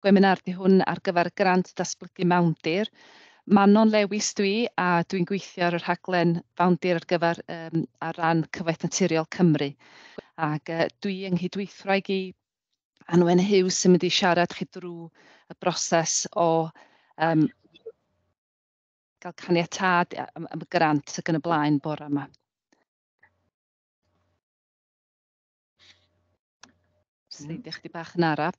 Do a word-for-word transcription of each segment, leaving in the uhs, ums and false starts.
Gweminar 'di hwn ar gyfer grant datblygu mawndir. Manon Lewis dwi a dwi'n gweithio ar y rhaglen fawndir ar gyfer um, ar ran Cyfoeth Naturiol Cymru. Ac uh, dwi yng nghydweithwraig i Anwen Hughes sy'n mynd i siarad chi drwy y broses o um, gael caniatâd am, am y grant ac yn y blaen bore yma. Sleidio chdi bach yn araf.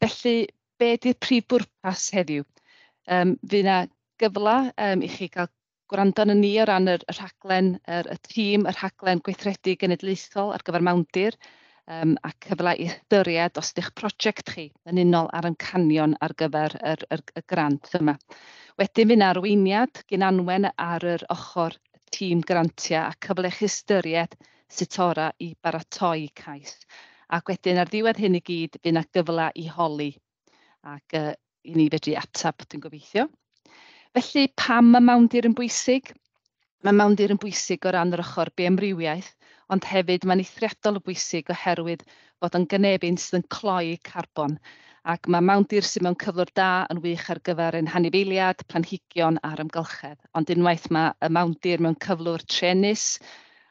Felly, be di'r prif bwrpas heddiw? Um, fydd yna gyfle um, i chi gael gwrando arno ni o ran yr, y rhaglen, yr, y tîm, y rhaglen gweithredu genedlaethol ar gyfer mawndir, um, a cyfle i ystyried os ydych prosiect chi yn unol â'r amcanion ar gyfer yr, yr, y grant yma. Wedyn fydd yna arweiniad gan Anwen ar yr ochr tîm grantiau a cyfle i chi ystyried sut ora i baratoi cais. Ac wedyn ar ddiwedd hyn i gyd, fydd yna gyfle i holi ac uh, i ni fedru ateb, dwi'n gobeithio. Felly, pam mae mawndir yn bwysig? Mae mawndir yn bwysig o ran yr ochr bioamrywiaeth, ond hefyd mae'n eithriadol o bwysig oherwydd fod yn gynefin sydd yn cloi carbon. Ac mae mawndir sydd mewn cyflwr da yn wych ar gyfer ein hanifeiliad, planhigion a'r amgylchedd. Ond unwaith mae y mawndir mewn cyflwr truenus,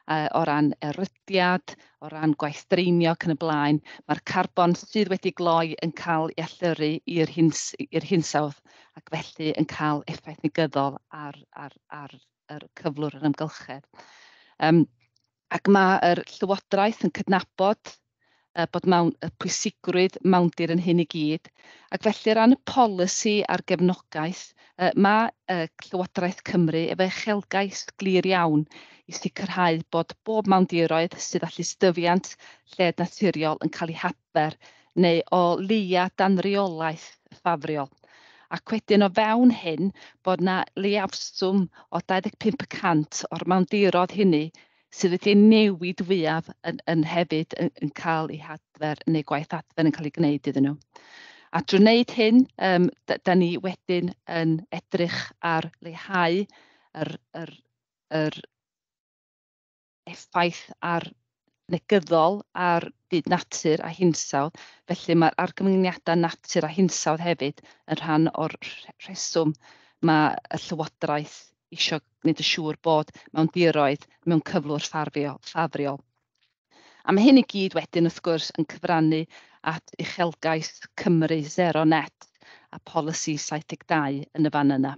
uh, o ran erydiad, o ran gwaith dreinio ac yn y blaen, mae'r carbon sydd wedi gloi yn cael ei allyrru i'r hins i'r hinsawdd ac felly yn cael effaith negyddol ar, ar, ar yr cyflwr yr amgylchedd. Um, ac mae'r Llywodraeth yn cydnabod uh, bod mewn, y pwysigrwydd mawndir yn hyn i gyd, ac felly o ran y polisi a'r gefnogaeth, uh, mae uh, Llywodraeth Cymru efo uchelgais glir iawn i sicrhau bod bob mawndiroedd sydd â llystyfiant lled naturiol yn cael ei hadfer neu o leia dan reolaeth ffafriol. Ac wedyn o fewn hyn bod na leiafswm o dau ddeg pump y cant o'r mawndiroedd hynny sydd wedi newid fwyaf yn, yn hefyd yn, yn cael ei hadfer neu gwaith adfer yn cael ei gwneud iddyn nhw. A drwy wneud hyn, um, da, da ni wedyn yn edrych ar leihau yr, yr, yr effaith ar negyddol ar byd natur a hinsawdd. Felly mae'r argyfyngiadau natur a hinsawdd hefyd yn rhan o'r rheswm mae y Llywodraeth isio gwneud yn siŵr bod mawndiroedd mewn cyflwr ffafriol. ffafriol. A mae hyn i gyd wedyn wrth gwrs yn cyfrannu at uchelgais Cymru Zero Net a polisi saith deg dau yn y fan yna.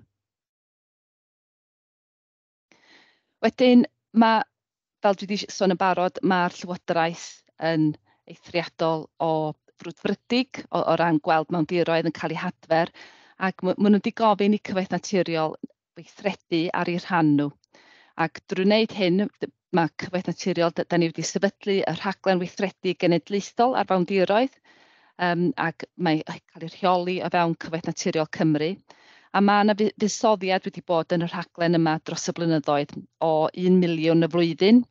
Wedyn mae, fel dwi wedi sôn yn barod, mae'r Llywodraeth yn eithriadol o frwdfrydig o, o ran gweld mawndiroedd yn cael eu hadfer, ac maen nhw wedi gofyn i Cyfoeth Naturiol weithredu ar eu rhan nhw. Ac drwy wneud hyn, mae Cyfoeth Naturiol, da ni wedi sefydlu y rhaglen weithredu genedlaethol ar fawndiroedd, um, ac mae cael ei rheoli o fewn Cyfoeth Naturiol Cymru. A mae yna fuddsoddiad wedi bod yn y rhaglen yma dros y blynyddoedd o un miliwn y flwyddyn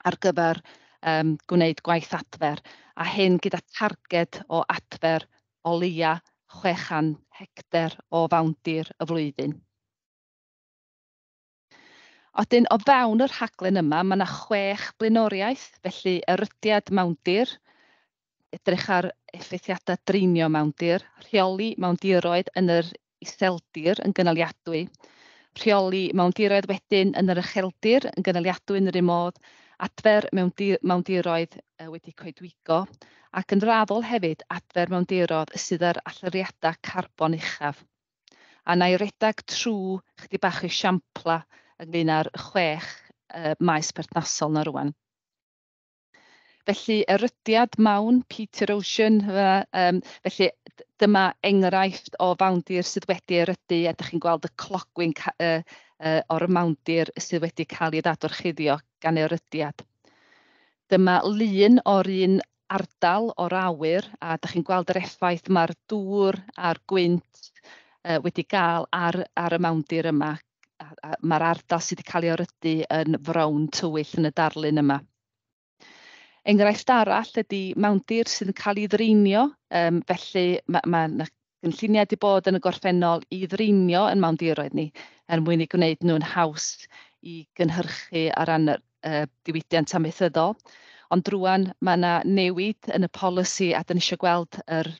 ar gyfer um, gwneud gwaith adfer, a hyn gyda targed o adfer o leia chwe chan hectar o fawndir y flwyddyn. Wedyn, o fewn y rhaglen yma, mae yna chwech blaenoriaeth, felly erydiad mawndir, edrych ar effeithiadau dreinio mawndir, rheoli mawndiroedd yn yr iseldir yn gynaliadwy, rheoli mawndiroedd wedyn yn yr ucheldir yn gynaliadwy yn yr un modd, adfer mewn mawndiroedd wedi coedwigo, ac yn raddol hefyd adfer mawndiroedd sydd â'r allyriadau carbon uchaf. A na i redag trwy chydig bach o esiampla ynglyn â'r chwech uh, maes perthnasol na rwan. Felly, erydiad mawn, peat erosion, um, felly dyma enghraifft o fawndir sydd wedi erydu, a dych chi'n gweld y clogwyn uh, uh, o'r mawndir sydd wedi cael ei ddadorchuddio gan erydiad. Dyma lun o'r un ardal o'r awyr, a dych chi'n gweld yr effaith mae'r dŵr a'r gwynt uh, wedi gael ar, ar y mawndir yma. A, a mae'r ardal sydd wedi cael ei erydu yn frown tywyll yn y darlun yma. Enghraifft arall ydy mawndir sydd yn cael ei ddreinio, um, felly mae ma 'na gynlluniau wedi bod yn y gorffennol i ddreinio yn mawndiroedd ni er mwyn eu gwneud nhw'n haws i gynhyrchu ar ran y uh, diwydiant amaethyddol. Ond rŵan mae yna newid yn y polisi a dyn ni eisiau gweld yr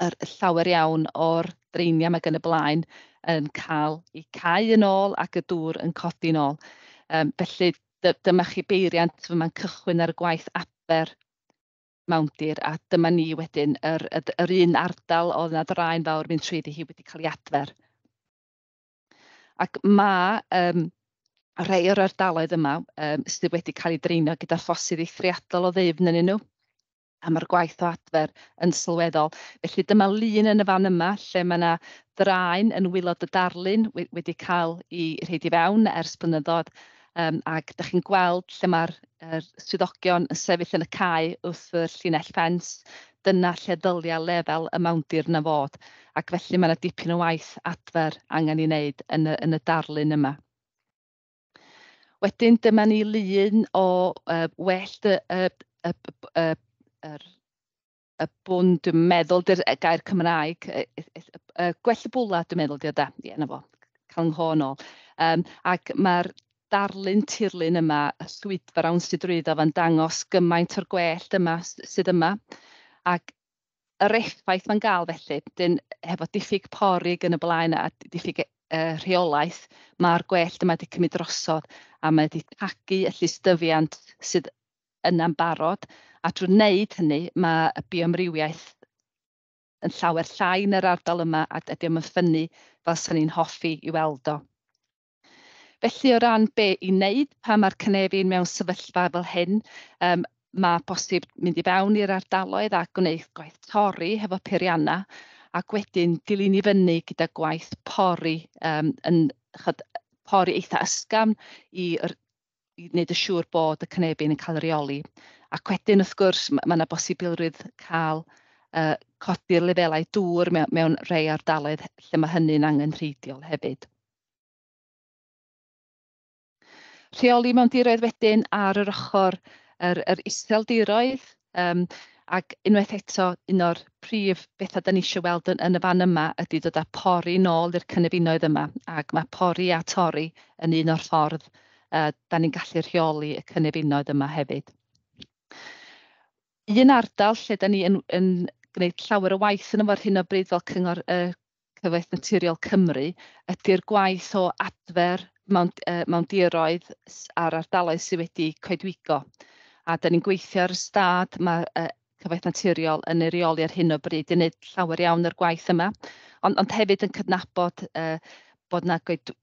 yr llawer iawn o'r dreiniau 'ma yn y blaen yn cael eu cau yn ôl ac y dŵr yn codi yn ôl. Um, felly dyma chi beiriant yma'n cychwyn ar y gwaith adfer mawndir, a dyma ni wedyn yr, yr, yr un ardal oedd yna ddraen fawr mynd trwyddi hi wedi cael ei adfer. Ac ma' um, rhai o'r ardaloedd yma um, sydd wedi cael eu dreinio gyda ffosydd eithriadol o ddyfn ynddyn nhw, a mae'r gwaith o adfer yn sylweddol. Felly dyma lun yn y fan yma lle mae yna ddraen yn waelod y darlun wedi cael ei rhoid i fewn ers blynyddoedd, um, ac dach chi'n gweld lle mae'r er swyddogion yn sefyll yn y cae wrth y llinell ffens. Dyna lle ddylia lefel y mawndir 'na fod, ac felly mae yna dipyn o waith adfer angen ei wneud yn y, yn y darlun yma. Wedyn dyma ni lun o uh, wellt y, y, y, y, yr, y bwn, dwi'n meddwl, dy'r gair Cymraeg, y, y, y, gwell y bwla, dwi'n meddwl, di o da, ie, na fo, cael 'ngho nôl. Um, ac mae'r darlun tirlun yma, y llwydfrawn sydd drwyddo fo'n dangos gymaint o'r gwellt yma sydd yma. Ac yr effaith mae'n gael felly, dyn, hefo diffyg porig yn y blaen a diffyg uh, rheolaeth, mae'r gwellt yma wedi cymryd drosodd a mae wedi tagu y llystyfiant sydd yna'n barod. A drwy wneud hynny, mae y bioamrywiaeth yn llawer llai yn yr ardal yma a dydy o'm yn ffynnu fel 'sen ni'n hoffi i weld o. Felly o ran be i wneud pan mae'r cynefin mewn sefyllfa fel hyn, um, mae bosib mynd i fewn i'r ardaloedd a gwneud gwaith torri hefo peirianna, ac wedyn dilyn i fyny gyda gwaith pori, um, yn chod, pori eitha ysgafn i, i wneud yn siŵr bod y cynefin yn cael ei reoli. Ac wedyn wrth gwrs mae yna bosibilrwydd cael uh, codi'r lefelau dŵr mewn, mewn rhai ardaloedd lle mae hynny'n angenrheidiol hefyd. Rheoli mewndiroedd wedyn ar yr ochr yr, yr iseldiroedd, um, ac unwaith eto un o'r prif bethau da ni eisiau weld yn, yn y fan yma ydy dod â pori nôl i'r cynefinoedd yma, ac mae pori a torri yn un o'r ffordd uh, da ni'n gallu rheoli y cynefinoedd yma hefyd. Un ardal lle da ni yn, yn gwneud llawer o waith yn ar hyn o bryd fel Cyngor uh, Cyfoeth Naturiol Cymru ydy'r gwaith o adfer mewn, uh, mewndiroedd a'r ardaloedd sydd wedi coedwigo. A da ni'n gweithio ar y stad, mae uh, Cyfoeth Naturiol yn ei reoli ar hyn o bryd i wneud llawer iawn o'r gwaith yma, ond, ond hefyd yn cydnabod uh, bod yna goed,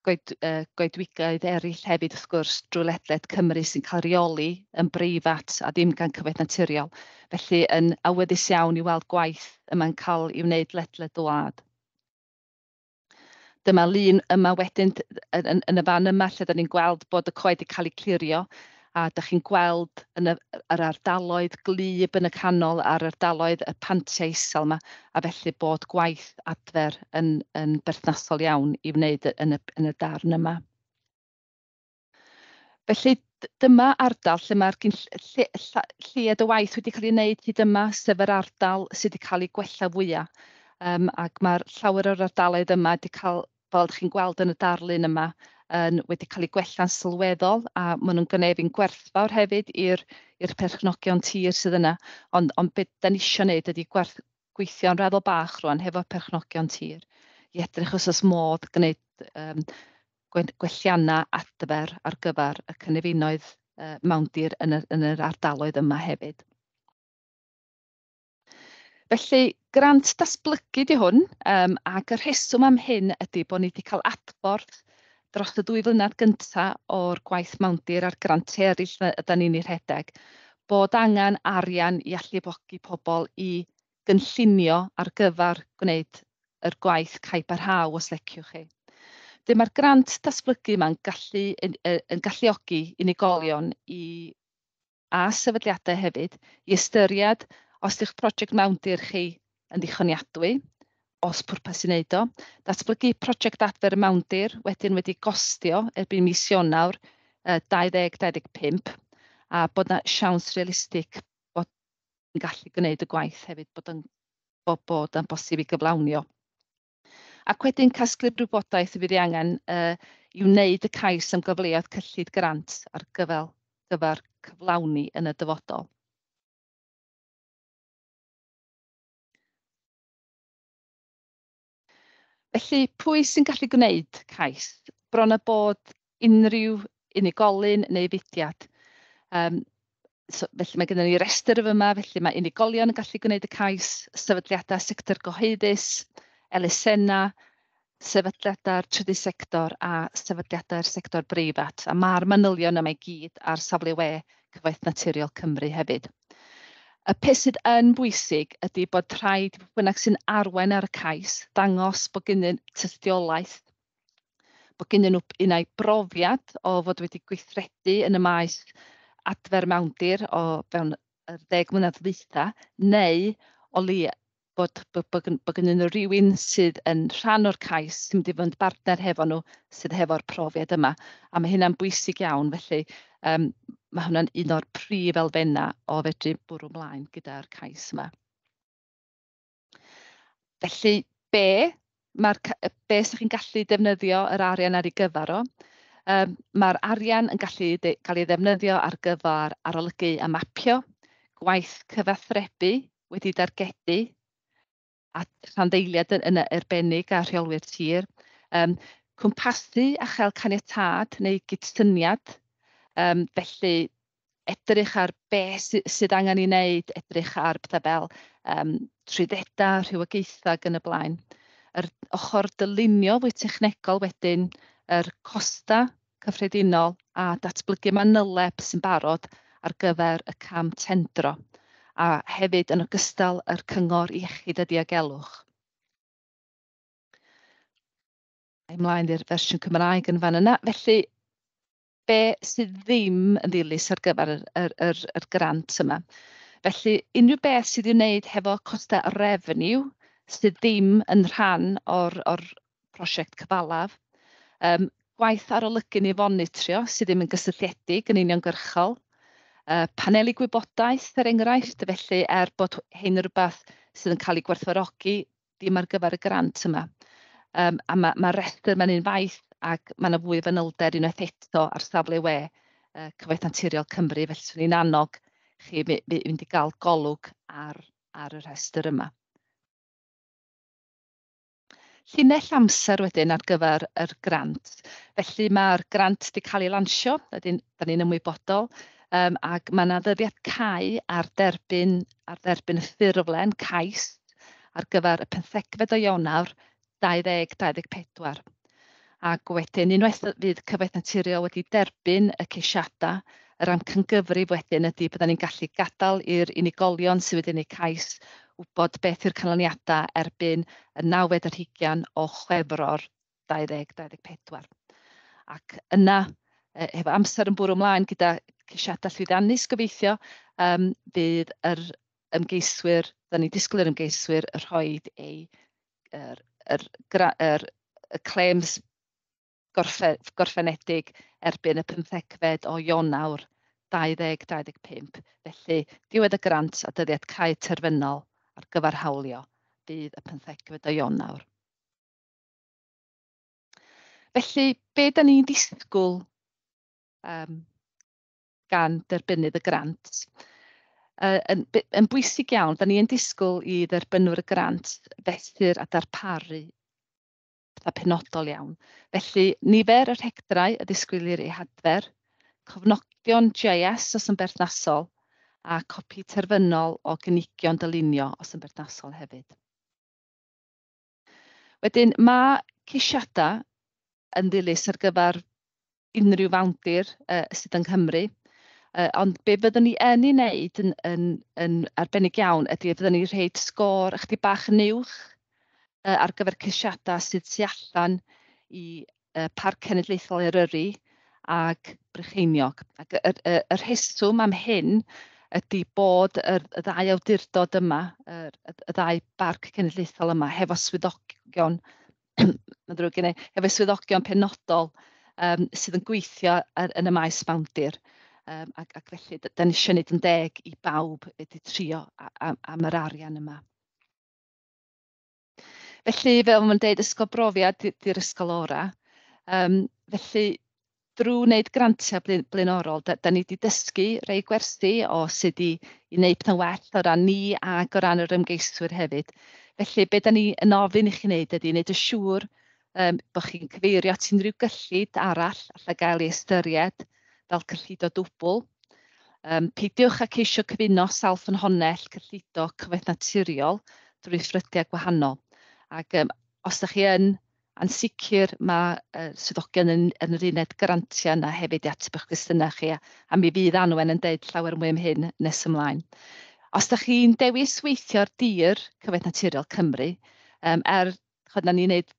goed, uh, goedwigoedd eraill hefyd wrth gwrs drwy ledled Cymru sy'n cael reoli yn breifat a ddim gan Cyfoeth Naturiol. Felly yn awyddus iawn i weld gwaith yma'n cael ei wneud ledled y wlad. Dyma lun yma wedyn yn, yn, yn y fan yma lle da ni'n gweld bod y coed wedi cael eu clirio, a da chi'n gweld yn y, yr ardaloedd gwlyb yn y canol a'r ardaloedd y pantiau isel yma, a felly bod gwaith adfer yn, yn berthnasol iawn i wneud yn y, yn y darn yma. Felly dyma ardal lle mae'r lle, lled y waith wedi cael ei wneud hyd yma, sef yr ardal sydd wedi cael ei gwella fwyaf. Um, ac mae'r llawer o'r ardaloedd yma wedi cael, fel ydych chi'n gweld yn y darlun yma, yn wedi cael eu gwella'n sylweddol, a maen nhw'n gynefin gwerthfawr hefyd i'r i'r perchnogion tir sydd yna. Ond, ond beth da ni isio wneud ydy gwerth, gweithio'n raddol bach rwan hefo perchnogion tir i edrych os oes modd gwneud um, gwelliannau adfer ar gyfer y cynefinoedd uh, mawndir yn, y, yn yr ardaloedd yma hefyd. Felly, grant datblygu di hwn, um, ac y rheswm am hyn ydy bod ni wedi cael adborth dros y dwy flynedd gyntaf o'r gwaith mawndir a'r grantiau eraill ydan ni'n ei rhedeg, bod angen arian i alluogi pobl i gynllunio ar gyfer gwneud yr gwaith caib a rhaw, os leciwch chi. Dyma'r grant datblygu yma'n gallu, yn, yn galluogi unigolion i, a sefydliadau hefyd i ystyried os ydych prosiect mawndir chi yn ddichoniadwy, os pwrpas i wneud o, datblygu prosiect adfer y mawndir wedyn wedi gostio erbyn mis Ionawr uh, dau ddeg dau ddeg pump, a bod yna siawns realistig bod yn gallu gwneud y gwaith hefyd, bod yn, bod, bod yn bosib i gyflawnio. Ac wedyn casglu'r wybodaeth y fydd ei angen uh, i wneud y cais am gyfleoedd cyllid grant ar gyfer, gyfer cyflawni yn y dyfodol. Felly, pwy sy'n gallu gwneud cais? Bron a bod unrhyw unigolyn neu fudiad. Um, so, felly mae gennym ni restr yma, felly mae unigolion yn gallu gwneud y cais, sefydliadau sector gyhoeddus, elusennau, sefydliadau'r trydydd sector a sefydliadau'r sector breifat. A mae'r manylion yma i gyd ar safle we Cyfoeth Naturiol Cymru hefyd. Y peth sydd yn bwysig ydy bod rhaid i bynnag sy'n arwain ar y cais dangos bod gennyn tystiolaeth, bod gennyn nhw unai brofiad o fod wedi gweithredu yn y maes adfer mawndir o fewn yr ddeg mlynedd ddwytha, neu o leia bod, bod, bod, bod gennyn nhw rywun sydd yn rhan o'r cais sy'n mynd i fod yn bartner hefo nhw sydd hefo'r profiad yma. A mae hynna'n bwysig iawn, felly um, mae hwnna'n un o'r prif elfennau o fedru bwrw ymlaen gyda'r cais yma. Felly, be mae'r be ydych chi'n gallu defnyddio yr arian ar ei gyfer o? Um, mae'r arian yn gallu de, cael ei ddefnyddio ar gyfer arolygu a mapio, gwaith cyfathrebu wedi dargedu, a rhanddeiliad yn, yn arbennig a rheolwyr tir, um, cwmpasu a chael caniatâd neu gydsyniad, um, felly edrych ar be sy, sydd angen ei wneud, edrych ar pethau fel um, trwyddedau, rhywogaethau ac yn y blaen. Yr ochr dylunio fwy technegol wedyn, yr costa cyffredinol a datblygu manyleb sy'n barod ar gyfer y cam tendro, a hefyd yn ogystal yr cyngor iechyd a diogelwch. Ymlaen i'r fersiwn Cymraeg yn fan yna. Felly, be sydd ddim yn ddilys ar gyfer yr, yr, yr, yr grant yma? Felly, unrhyw beth sydd i'w wneud hefo costau revenue sydd ddim yn rhan o'r, or prosiect cyfalaf, um, gwaith arolygu neu fonitrio sydd ddim yn gysylltiedig yn uniongyrchol, uh, paneli gwybodaeth er enghraifft, felly er bod hyn yn rhywbeth sydd yn cael ei gwerthfawrogi, ddim ar gyfer y grant yma. Um, a mae ma rhestr mae'n un faith ac mae yna fwy o fanylder unwaith eto ar safle we uh, Cyfoeth Naturiol Cymru, felly swn i'n annog chi fynd i gael golwg ar, ar y rhestr yma. Llinell amser wedyn ar gyfer yr grant. Felly mae'r grant wedi cael ei lansio, da ni'n ymwybodol, um, ac mae yna ddyddiad cau ar derbyn, ar dderbyn y ffurflen cais ar gyfer y pymthegfed o Ionawr dau ddeg dau ddeg pedwar. Ac wedyn, unwaith fydd Cyfoeth Naturiol wedi derbyn y ceisiadau, yr amcangyfrif wedyn ydy byddwn ni'n gallu gadael i'r unigolion sydd wedi gwneud cais wybod beth yw'r canlyniadau erbyn y nawfed ar hugain o Chwefror dau ddeg dau ddeg pedwar. Ac yna, hefo amser yn bwrw ymlaen gyda ceisiadau llwyddiannus gobeithio, um, fydd yr ymgeiswyr, da ni'n disgwyl i'r ymgeiswyr rhoi eu yr, yr, yr, y claims gorffen, gorffenedig erbyn y pymthegfed o Ionawr dau ddeg dau ddeg pump. Felly, diwedd y grant a dyddiad cau terfynol ar gyfer hawlio fydd y pymthegfed o Ionawr. Felly, be da ni'n disgwyl um, gan derbynnydd y grant? Uh, yn, yn bwysig iawn, da ni'n disgwyl i dderbynwyr y grant fesur a darparu pethau penodol iawn. Felly, nifer yr hectarau y disgwylir eu hadfer, cofnodion G I S os yn berthnasol, a copi terfynol o gynigion dylunio os yn berthnasol hefyd. Wedyn, mae ceisiadau yn ddilys ar gyfer unrhyw fawndir uh, sydd yng Nghymru, uh, ond be fyddwn ni yn ei wneud yn, yn, yn arbennig iawn ydy fyddwn ni'n rhoid sgôr ychydig bach yn uwch uh, ar gyfer ceisiadau sydd tu allan i uh, Parc Cenedlaethol Eryri ac Brycheiniog. Ac y, y, y rheswm am hyn ydy bod yr, y ddau awdurdod yma, yr, y, y ddau barc cenedlaethol yma, hefo swyddogion, mae'n ddrwg gen i, hefo swyddogion penodol um, sydd yn gweithio ar, yn y maes mawndir. Um, ac, ac felly, da ni eisiau gwneud yn deg i bawb wedi trio am, am yr arian yma. Felly, fel mae'n deud, ysgol brofiad di'r ysgol ora. Um, felly, Drwy wneud grantiau blaenorol, da, da ni wedi dysgu rei gwersi o sut i, i wneud pethau'n well o ran ni ac o ran yr ymgeiswyr hefyd. Felly, be da ni yn ofyn i chi wneud ydy wneud yn siŵr um, bod chi'n cyfeirio at unrhyw gyllid arall allai gael ei ystyried fel cyllido dwbl. Um, peidiwch â ceisio cyfuno sawl ffynhonnell cyllido Cyfoeth Naturiol drwy ffrydiau gwahanol. Ac um, os ydych chi yn ansicr, mae uh, swyddogion yn, yn yr uned grantiau yna hefyd i ateb eich cwestiynau chi, a, a mi fydd Anwen yn deud llawer mwy am hyn nes ymlaen. Os ydych chi'n dewis weithio ar dir Cyfoeth Naturiol Cymru, um, er chod na ni'n neud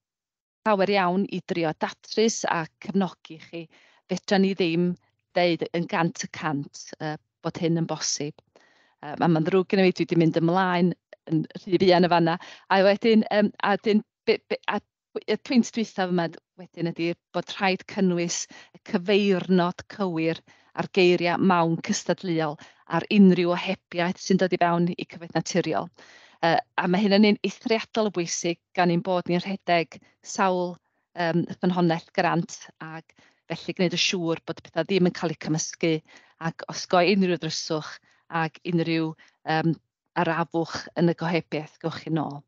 llawer iawn i drio datrys a cefnogi chi, fedra ni ddim deud yn gant y cant uh, bod hyn yn bosib. Um, a mae'n ddrwg gen i fi, dwi wedi mynd ymlaen yn rhy fuan y fanna. A wedyn, um, a wedyn be, be, a y pwynt dwythaf yma wedyn ydy bod rhaid cynnwys y cyfeirnod cywir a'r geiriau mawn cystadleuol ar unrhyw ohebiaeth sy'n dod i fewn i Cyfoeth Naturiol. Uh, a mae hyn yn un eithriadol o bwysig gan ein bod ni'n rhedeg sawl um, ffynhonnell grant, ac felly gwneud yn siŵr bod pethau ddim yn cael eu cymysgu ac osgoi unrhyw ddryswch ac unrhyw um, arafwch yn y gohebiaeth gewch chi nôl.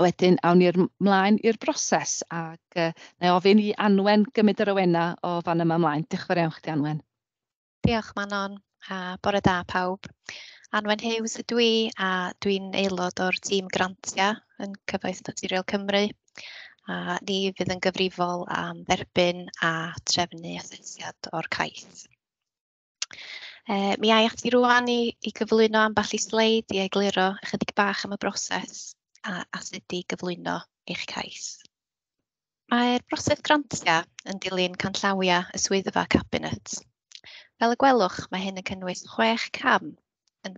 Wedyn awn ni'r mlaen i'r broses ac uh, na i ofyn i Anwen gymryd yr awenau o fan yma ymlaen. Diolch yn fawr iawn chdi, Anwen. Diolch Manon, a bore da pawb. Anwen Hughes ydw i a dwi'n aelod o'r tîm grantiau yn Cyfoeth Naturiol Cymru, a ni fydd yn gyfrifol am dderbyn a trefnu asesiad o'r cais. E, mi ai ati rŵan i, i gyflwyno ambell i sleid i egluro ychydig bach am y broses a, a sut i gyflwyno eich cais. Mae'r broses grantiau yn dilyn canllawiau y Swyddfa Cabinet. Fel y gwelwch, mae hyn yn cynnwys chwech cam yn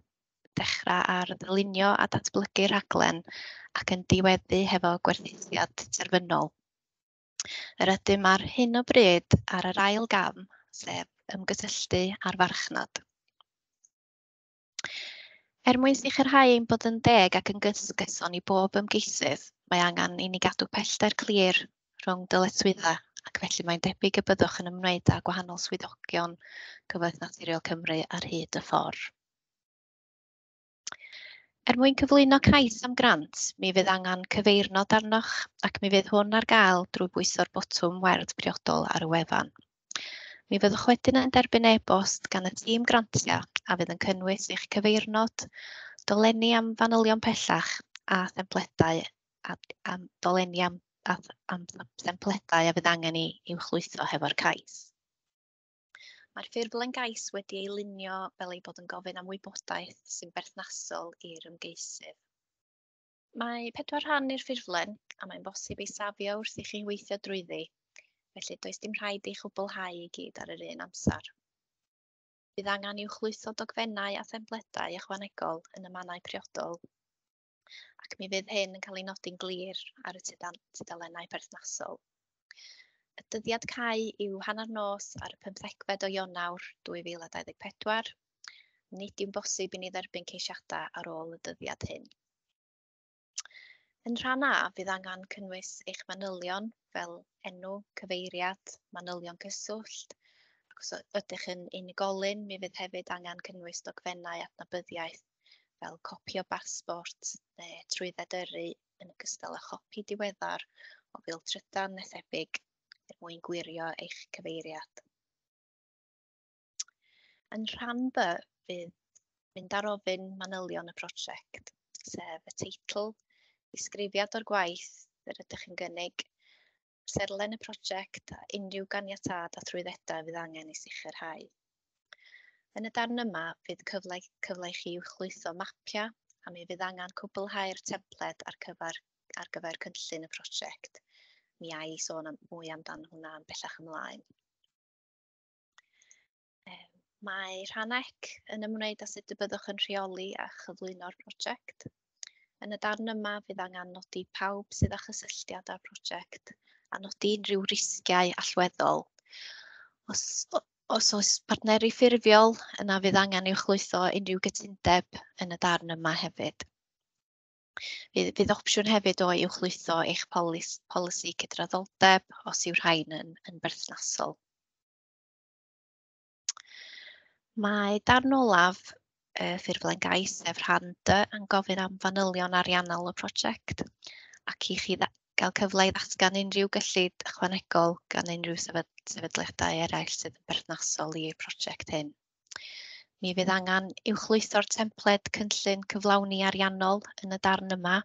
dechrau ar ddylunio a datblygu rhaglen ac yn diweddu hefo gwerthusiad terfynol. Yr ydym ar hyn o bryd ar yr ail gam, sef ymgysylltu â'r farchnad. Er mwyn sicrhau ein bod yn deg ac yn gyson i bob ymgeisydd, mae angen i ni gadw pellter clir rhwng dyletswyddau, ac felly mae'n debyg y byddwch yn ymwneud â gwahanol swyddogion Cyfoeth Naturiol Cymru ar hyd y ffordd. Er mwyn cyflwyno cais am grant, mi fydd angen cyfeirnod arnoch ac mi fydd hwn ar gael drwy bwyso'r botwm werdd priodol ar y wefan. Mi fyddwch wedyn yn derbyn e-bost gan y tîm grantiau a fydd yn cynnwys eich cyfeirnod, dolenni am fanylion pellach a thempledau a, am dolenni am, a, am thempledau a fydd angen i uwchlwytho hefo'r cais. Mae'r ffurflen gais wedi ei lunio fel ei bod yn gofyn am wybodaeth sy'n berthnasol i'r ymgeisydd. Mae pedwar rhan i'r ffurflen a mae'n bosib ei safio wrth i chi weithio drwyddi, felly does dim rhaid ei chwblhau i gyd ar yr un amser. Bydd angen uwchlwytho dogfennau a thempledau ychwanegol yn y mannau priodol, ac mi fydd hyn yn cael ei nodi'n glir ar y tudalennau perthnasol. Y dyddiad cau yw hanner nos ar y pymthegfed o Ionawr dwy fil a dau ddeg pedwar. Nid yw'n bosib i ni dderbyn ceisiadau ar ôl y dyddiad hyn. Yn rhan A, fydd angen cynnwys eich manylion fel enw, cyfeiriad, manylion cyswllt. Ac os ydych yn unigolyn, mi fydd hefyd angen cynnwys dogfennau adnabyddiaeth fel copi o basbort neu trwydded yrru yn ogystal â chopi diweddar o fil trydan neu thebyg er mwyn gwirio eich cyfeiriad. Yn rhan B, fydd mynd ar ofyn manylion y prosiect, sef y teitl, disgrifiad o'r gwaith yr ydych yn gynnig, amserlen y prosiect a unrhyw ganiatâd a thrwyddedau fydd angen ei sicrhau. Yn y darn yma, fydd cyfle, cyfle i chi uwchlwytho mapiau a mi fydd angen cwblhau'r templed ar gyfer, ar gyfer cynllun y prosiect. Mi ai sôn am, mwy amdan hwnna yn bellach ymlaen. Mae rhan C yn ymwneud â sut y byddwch yn rheoli a chyflwyno'r prosiect. Yn y darn yma, fydd angen nodi pawb sydd â chysylltiad â'r prosiect a nodi unrhyw risgiau allweddol. Os, os oes partneri ffurfiol, yna fydd angen uwchlwytho unrhyw gytundeb yn y darn yma hefyd. Fydd, fydd opsiwn hefyd o uwchlwytho eich polis, polisi cydraddoldeb os yw rhain yn, yn berthnasol. Mae darn olaf y ffurflen gais, sef rhan D, yn gofyn am fanylion ariannol y prosiect ac i chi gael cyfle i ddatgan unrhyw gyllid ychwanegol gan unrhyw sefydliadau eraill sydd yn berthnasol i'r prosiect hyn. Mi fydd angen uwchlwytho'r templed cynllun cyflawni ariannol yn y darn yma.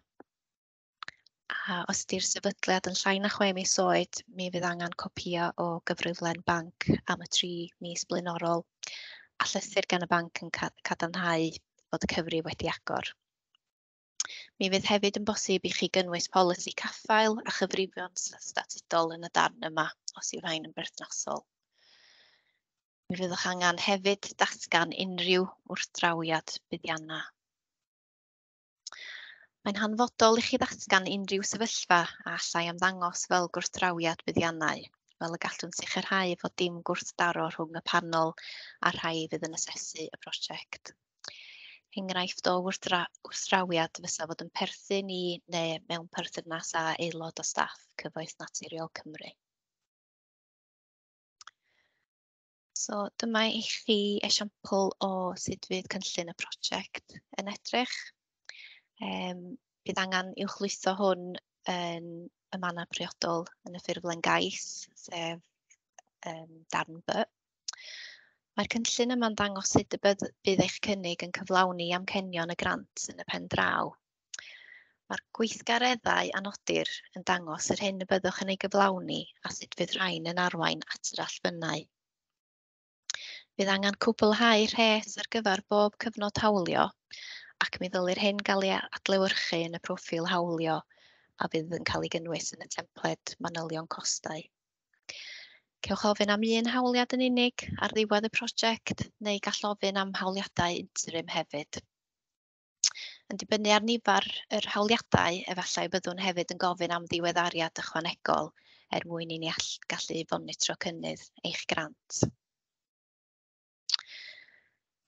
A os ydy'r sefydliad yn llai na chwe mis oed, mi fydd angen copïo o gyfriflen banc am y tri mis blaenorol a llythyr gan y banc yn cadarnhau fod y cyfrif wedi agor. Mi fydd hefyd yn bosib i chi gynnwys polisi caffael a chyfrifion statudol yn y darn yma, os yw rhain yn berthnasol. Mi fyddwch angen hefyd datgan unrhyw wrthdrawiad buddiannau. Mae'n hanfodol i chi ddatgan unrhyw sefyllfa a allai ymddangos fel gwrthdrawiad buddiannau, fel y gallwn sicrhau fod dim gwrthdaro rhwng y panel a'r rhai fydd yn asesu y prosiect. Enghraifft o wrthdra wrthdrawiad fysa fod yn perthyn i neu mewn perthynas â aelod o staff Cyfoeth Naturiol Cymru. So dyma i chi esiampl o sut fydd cynllun y prosiect yn edrych. Um, bydd angen uwchlwytho hwn yn y mannau priodol yn y ffurflen gais, sef um, darn B. Mae'r cynllun yma'n dangos sut y bydd, bydd eich cynnig yn cyflawni amcenion y grant yn y pen draw. Mae'r gweithgareddau a nodir yn dangos yr hyn y byddwch yn ei gyflawni a sut fydd rhain yn arwain at yr allbynnau. Bydd angen cwblhau rhes ar gyfer bob cyfnod hawlio ac mi ddylir hyn gael ei adlewyrchu yn y proffil hawlio a fydd yn cael ei gynnwys yn y templed manylion costau. Cewch ofyn am un hawliad yn unig ar ddiwedd y prosiect neu gall ofyn am hawliadau interim hefyd. Yn dibynnu ar nifer yr hawliadau, efallai byddwn hefyd yn gofyn am ddiweddariad ychwanegol er mwyn i ni all gallu fonitro cynnydd eich grant.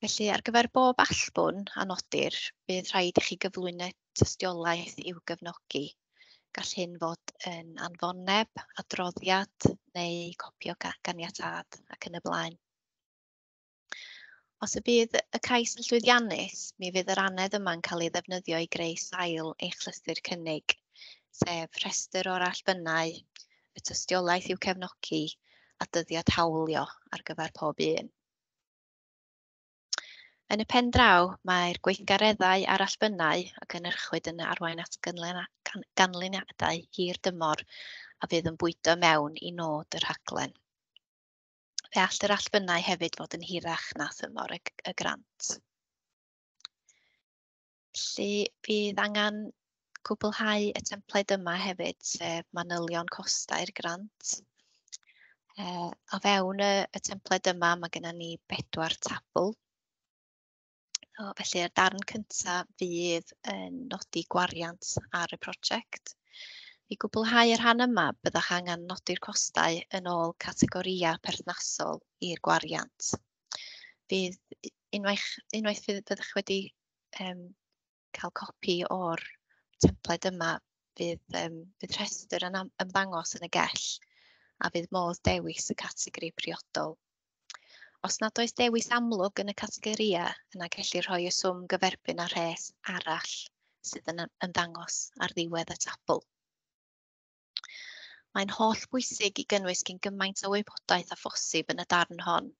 Felly, ar gyfer bob allbwn a nodir, bydd rhaid i chi gyflwyno tystiolaeth i'w gefnogi. Gall hyn fod yn anfoneb, adroddiad neu copi o ganiatâd ac yn y blaen. Os y bydd y cais yn llwyddiannus, mi fydd yr annedd yma'n cael ei ddefnyddio i greu sail eich llythyr cynnig, sef rhestr o'r allbynnau, y tystiolaeth i'w cefnogi a dyddiad hawlio ar gyfer pob un. Yn y pen draw, mae'r gweithgareddau a'r allbynnau a gynhyrchwyd yn arwain at ganlyniadau hir dymor a fydd yn bwydo mewn i nod y rhaglen. Fe all yr allbynnau hefyd fod yn hirach na thymor y, y grant. Felly, fydd angen cwblhau y templed yma hefyd, sef manylion costau'r grant. E, o fewn y, y templed yma, mae gennym ni bedwar tabl. O, felly, y darn cyntaf fydd yn nodi gwariant ar y prosiect. I gwblhau y rhan yma, byddwch angen nodi'r costau yn ôl categorïau perthnasol i'r gwariant. Fydd unwaith, unwaith fydd, byddwch wedi um, cael copi o'r templed yma, fydd, um, fydd rhestr yn ymddangos yn y gell a fydd modd dewis y categori priodol. Os nad oes dewis amlwg yn y categorïau, yna gellir rhoi y swm gyferbyn â rhes arall sydd yn ymddangos ar ddiwedd y tabl. Mae'n holl bwysig i gynnwys cyn gymaint o wybodaeth â phosib yn y darn hon.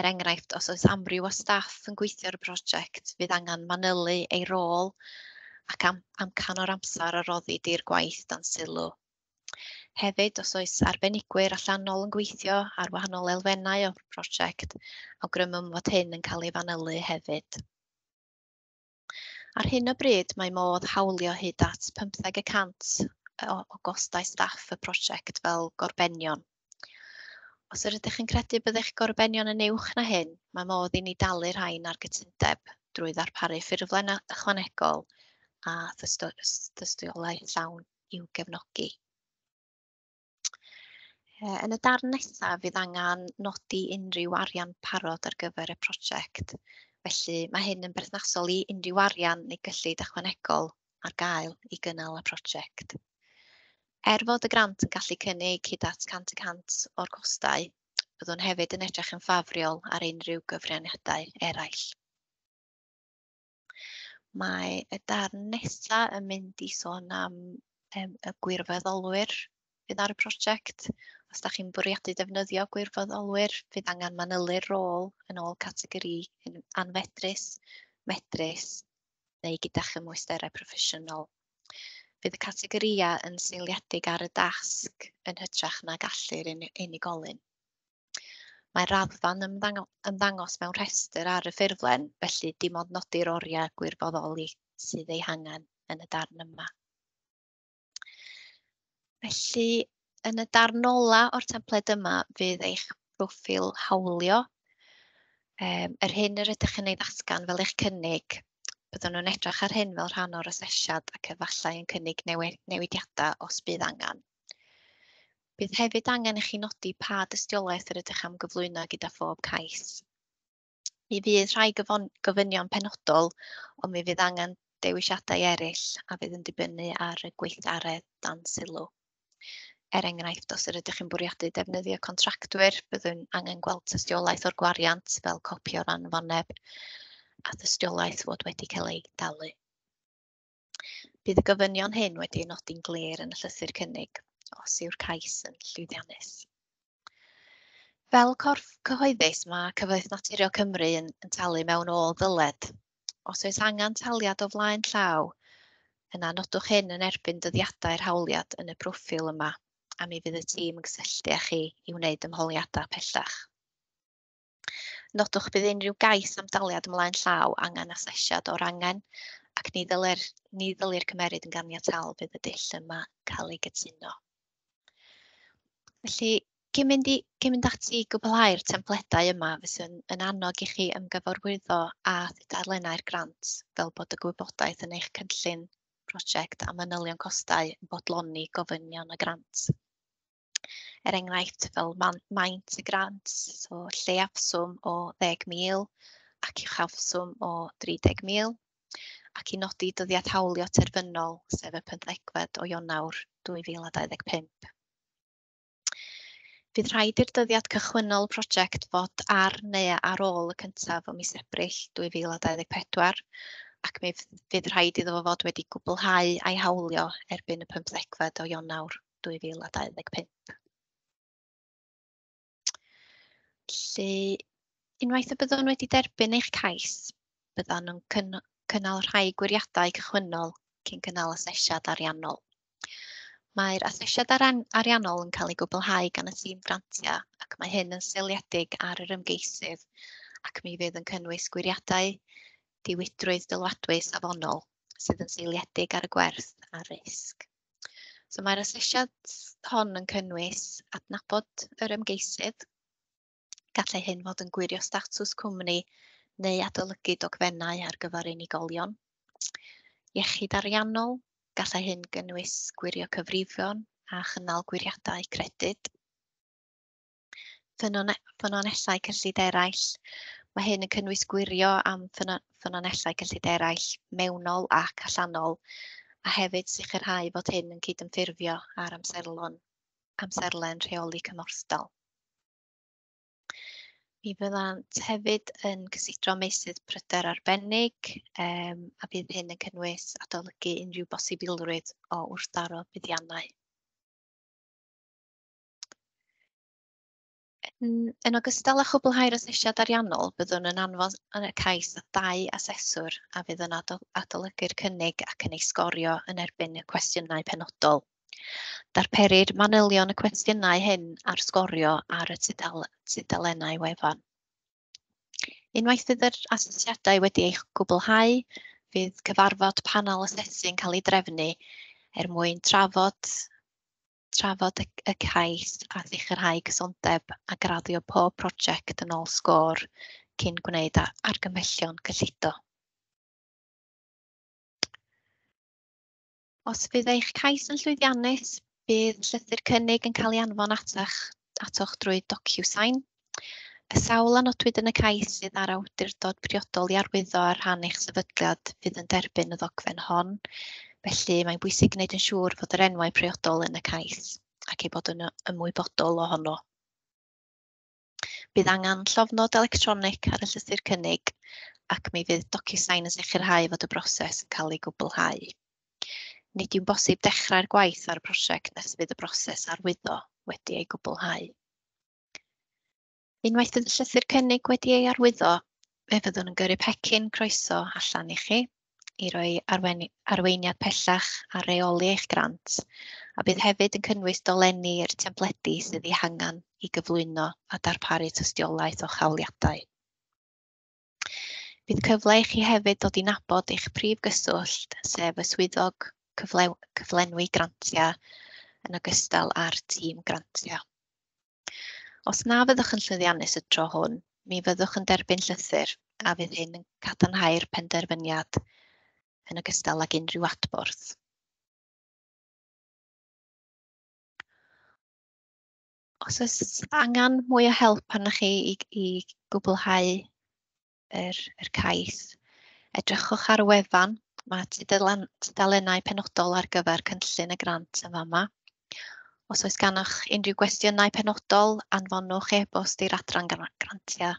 Er enghraifft, os oes amryw o staff yn gweithio ar y prosiect, fydd angen manylu ei rôl ac am amcan o'r amser a roddi di'r gwaith dan sylw. Hefyd, os oes arbenigwyr allanol yn gweithio ar wahanol elfennau o'r prosiect, awgrymwn fod hyn yn cael ei fanylu hefyd. Ar hyn o bryd, mae modd hawlio hyd at pymtheg y cant o, o gostau staff y prosiect fel gorbenion. Os yr ydych yn credu bydd eich gorbenion yn uwch na hyn, mae modd i ni dalu rhain ar gytundeb drwy ddarparu ffurflen ychwanegol a thystiolaeth llawn i'w gefnogi. Yn y darn nesaf fydd angen nodi unrhyw arian parod ar gyfer y prosiect. Felly mae hyn yn berthnasol i unrhyw arian neu gyllid ychwanegol ar gael i gynnal y prosiect. Er fod y grant yn gallu cynnig hyd at cant y cant o'r costau, byddwn hefyd yn edrych yn ffafriol ar unrhyw gyfraniadau eraill. Mae y darn nesaf yn mynd i sôn am um, y gwirfoddolwyr fydd ar y prosiect. Os da chi'n bwriadu defnyddio gwirfoddolwyr, fydd angen manylu'r rôl yn ôl categori anfedrus, medrus neu gyda chymwysterau proffesiynol. Fydd y categorïau yn seiliedig ar y dasg yn hytrach na gallu'r unigolyn. Mae raddfa'n ymddangos mewn rhestr ar y ffurflen, felly dim ond nodi'r oriau gwirfoddoli sydd eu hangen yn y darn yma. Felly, yn y darn ola o'r templed yma fydd eich proffil hawlio. Um, yr hyn yr ydych yn ei ddatgan fel eich cynnig, byddwn nhw'n edrych ar hyn fel rhan o'r asesiad ac efallai yn cynnig newidiadau os bydd angen. Bydd hefyd angen i chi nodi pa dystiolaeth yr ydych am gyflwyno gyda phob cais. Mi fydd rhai gofynion penodol, ond mi fydd angen dewisiadau eraill a fydd yn dibynnu ar y gweithgaredd dan sylw. Er enghraifft, os yr ydych yn bwriadu defnyddio contractwyr, byddwn angen gweld tystiolaeth o'r gwariant fel copi o'r anfoneb a thystiolaeth fod wedi cael ei dalu. Bydd y gofynion hyn wedi eu nodi'n glir yn y llythyr cynnig os yw'r cais yn llwyddiannus. Fel corff cyhoeddus, mae Cyfoeth Naturiol Cymru yn, yn talu mewn ôl ddyled. Os oes angen taliad o flaen llaw, yna nodwch hyn yn erbyn dyddiadau'r hawliad yn y proffil yma, a mi fydd y tîm yn cysylltu â chi i wneud ymholiadau pellach. Nodwch bydd unrhyw gais am daliad ymlaen llaw angen asesiad o'r angen, ac ni ddylir, ni ddylir cymeryd yn ganiataol bydd y dull yma cael ei gytuno. Felly, cyn mynd, i, cyn mynd ati i gwblhau'r templedau yma, fyswn yn annog i chi ymgyfarwyddo â thudalennau'r grant fel bod y gwybodaeth yn eich cynllun prosiect a manylion costau yn bodloni gofynion y grant. Er enghraifft, fel man, maint y grant, so lleiafswm o ddeg mil ac uchafswm o dri deg mil, ac i nodi dyddiad hawlio terfynol, sef y pymthegfed o Ionawr dwy fil a dau ddeg pump. Bydd rhaid i'r dyddiad cychwynnol prosiect fod ar neu ar ôl y cyntaf o mis Ebrill dwy fil a dau ddeg pedwar, ac mi fydd rhaid iddo fo fod wedi gwblhau a'i hawlio erbyn y pymthegfed o Ionawr dwy fil a dau ddeg pump. Felly, unwaith y byddwn wedi derbyn eich cais, byddan nhw'n cynnal rhai gwiriadau cychwynnol cyn cynnal asesiad ariannol. Mae'r asesiad ariannol yn cael ei gwblhau gan y tîm grantiau ac mae hyn yn seiliedig ar yr ymgeisydd ac mi fydd yn cynnwys gwiriadau diwydrwydd dylwadwy safonol sydd yn seiliedig ar y gwerth a'r risg. So mae'r asesiad hon yn cynnwys adnabod yr ymgeisydd. Gallai hyn fod yn gwirio statws cwmni neu adolygu dogfennau ar gyfer unigolion. Iechyd ariannol. Gallai hyn gynnwys gwirio cyfrifon a chynnal gwiriadau credyd. Ffynonellau cyllid eraill. Mae hyn yn cynnwys gwirio am ffynonellau cyllid eraill mewnol ac allanol, a hefyd sicrhau fod hyn yn cydymffurfio â'r amserlon, amserlen rheoli cymhorthdal. Mi fyddant hefyd yn cysidro meysydd pryder arbennig, um, a bydd hyn yn cynnwys adolygu unrhyw bosibilrwydd o wrthdaro buddiannau. Yn, yn ogystal â chwblhau'r asesiad ariannol, byddwn yn anfon y cais at dau aseswr a fydd yn adolygu'r cynnig ac yn ei sgorio yn erbyn y cwestiynau penodol. Darperir manylion y cwestiynau hyn ar sgorio ar y tudalennau wefan. Unwaith fydd yr asesiadau wedi eu gwblhau, fydd cyfarfod panel asesu'n cael ei drefnu er mwyn trafod, trafod y, y cais a sicrhau cysondeb a graddio pob prosiect yn ôl sgôr cyn gwneud argymhellion cyllido. Os fydd eich cais yn llwyddiannus, bydd llythyr cynnig yn cael ei anfon atach, atoch drwy DocuSign. Y sawl a nodwyd yn y cais sydd â'r awdurdod priodol i arwyddo ar rhan eich sefydliad fydd yn derbyn y ddogfen hon, felly mae'n bwysig gwneud yn siŵr fod yr enwau priodol yn y cais ac eu bod yn ymwybodol ohono. Bydd angen llofnod electronig ar y llythyr cynnig ac mi fydd DocuSign yn sicrhau fod y broses yn cael ei gwblhau. Nid yw'n bosib dechrau'r gwaith ar y prosiect nes fydd y broses arwyddo wedi ei gwblhau. Unwaith fydd y llythyr cynnig wedi ei arwyddo, fe fyddwn yn gyrru pecyn croeso allan i chi i roi arweiniad pellach ar reoli eich grant, a bydd hefyd yn cynnwys dolenni i'r templedi sydd eu hangen i gyflwyno a darparu tystiolaeth o'ch hawliadau. Bydd cyfle i chi hefyd ddod i nabod eich prif gyswllt, sef y swyddog cyflenwi grantiau, yn ogystal â'r tîm grantiau. Os na fyddwch yn llwyddiannus y tro hwn, mi fyddwch yn derbyn llythyr a fydd hyn yn cadarnhau'r penderfyniad yn ogystal ag unrhyw adborth. Os oes angen mwy o help arnoch chi i, i gwblhau yr, yr cais, edrychwch ar y wefan. Mae tudalennau penodol ar gyfer cynllun y grant yn fama. Os oes ganoch unrhyw gwestiynau penodol, anfonwch e-bost i'r adran grantiau.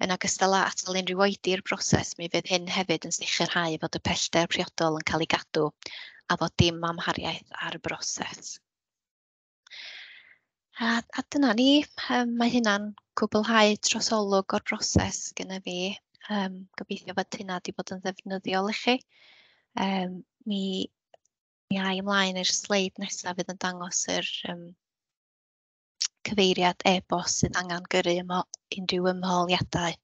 Yn ogystal â atal unrhyw oedi i'r broses, mi fydd hyn hefyd yn sicrhau fod y pellter priodol yn cael ei gadw a fod dim amhariaeth ar y broses. A, a dyna ni, um, mae hynna'n cwblhau trosolwg o'r broses gyda fi. Um, gobeithio fod hynna wedi bod yn ddefnyddiol i chi. Um, mi Mi ai ymlaen i'r sleid nesaf fydd yn dangos yr um, cyfeiriad e-bost sydd angen gyrru ymo, unrhyw ymholiadau.